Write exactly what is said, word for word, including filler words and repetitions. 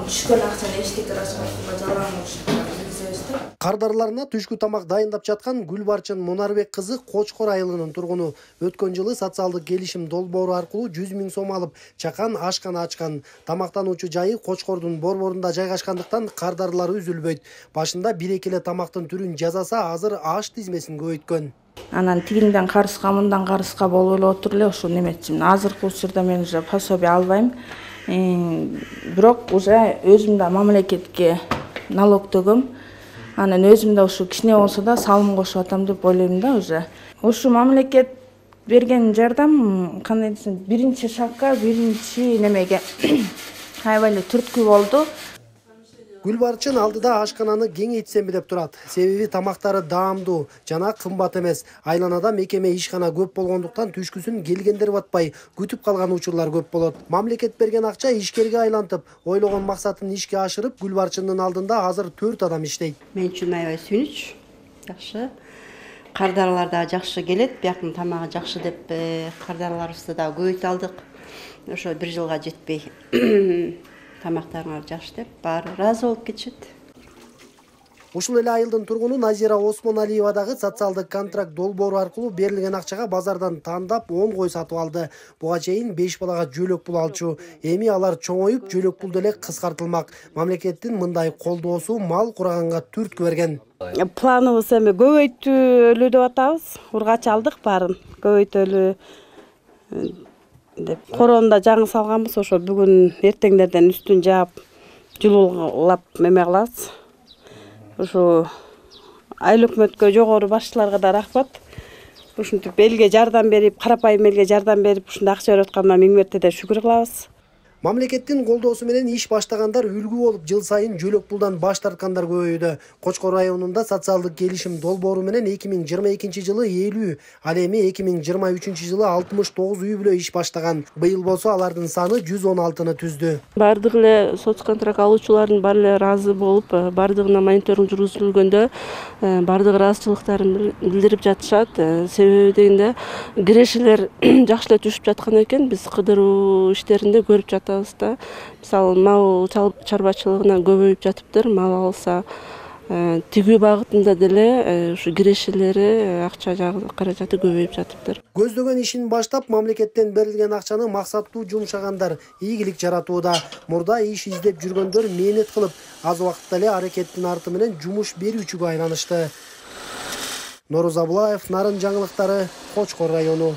түшкөн акчаны эчтеке расходко жалган Кардарларына түшкү тамак дайындап жаткан Гүлбарчын Мунарбек кызы Кочкор айылынын тургуну. Өткөн жылы социалдык келишим долбоору аркылуу жүз миң сом алып, чакан ашкана ачкан. Тамактануучу жайы Кочкордун борборунда жайгашкандыктан кардарлары үзүлбөйт. Башында бир-эки эле тамактын түрүн жасаса, азыр аш тизмесин көбөйткөн. Анан тигинден карызга, мындан карызга болуп эле отур эле ушул неметчим. Азыркы учурда мен уже пособие албайм. Бирок уже өзүм да мамлекетке налог төгөм. Анан өзүм да ушу кичине болсо да салым кошуп атам деп ойлойм да уже. Ушу мамлекет берген жардам кандай десем, биринчи шагга, биринчи немеге аябай эле түрткү болду. Гүлбарчын алдыда ашкананы кеңейтсемби деп турат. Себеби тамактары даамдуу жана кымбат эмес. Айланада мекеме ишкана көп болгондуктан түшкүсүн келгендер батпай, күтүп калган учурлар көп болот. Мамлекет берген акча ишкерге айлантып, ойлогон максатын ишке ашырып, Гүлбарчындын алдында азыр төрт адам иштейт. Мен үчүн аябай сүйүнүч. Жакшы. Кардарлар да жакшы келет, бияктын тамагы жакшы деп кардарларыбызды да көбөйтө алдык. Ошо бир жылга жетпей тамактарыңар жакшы деп баары ыраазы болуп кетишет. Ушул эле айылдын тургуну Назира Осмоналиева дагы социалдык контракт долбоору аркылуу берилген акчага базардан тандап он кой сатып алды. Буга чейин беш балага жөлөк пул алчу. Эми алар чоңоюп, жөлөк пул деле кыскартылмак. Мамлекеттин мындай колдоосу мал кураганга түрткү берген. Планыбыз эми көбөйтөлү деп атабыз. Ургач алдык баарын. Көбөйтөлү деп коронда жаңы салганбыз, ошо бүгүн эртеңдерден үстүн жаап, жылуулап эме кылабыз. Ошо айыл өкмөткө, жогору башчыларга да рахмат. Ушинтип элге жардам берип, карапайым элге жардам берип, ушундай акча берип атканына миң мертеде шүгүр кылабыз. Мамлекеттин колдоосу менен иш баштагандар үлгү болуп, жыл сайын жөлөк пулдан баш тарткандар көбөйдү. Кочкор районунда социалдык келишим долбоору менен эки миң жыйырма экинчи жылы элүү, ал эми эки миң жыйырма үчүнчү жылы алтымыш тогуз үй бүлө иш баштаган. Быйыл болсо алардын саны жүз он алтыны түздү. Бардык эле соцконтракт алуучулардын баары эле ыраазы болуп, бардыгына мониторинг жүргүзүлгөндө бардык ыраазычылыктарын билдирип жатышат. Себеби дегенде кирешелер жакшы эле түшүп жаткан экен. Биз кыдыруу иштеринде көрүп жатабыз. Мисалы, мал чарбачылыгынан көбөйүп жатыптыр. Мал алса, тигүү багытында деле ушу кирешелери, акча каражаты көбөйүп жатыптыр. Көздөгөн ишин баштап, мамлекеттен берилген акчаны максаттуу жумшагандар ийгилик жаратууда. Мурда иш издеп жүргөндөр мээнет кылып, аз убакытта эле аракеттин арты менен жумуш берүүчүгө айланышты. Нороза Абылаев, Нарын жаңылыктары, Кочкор району.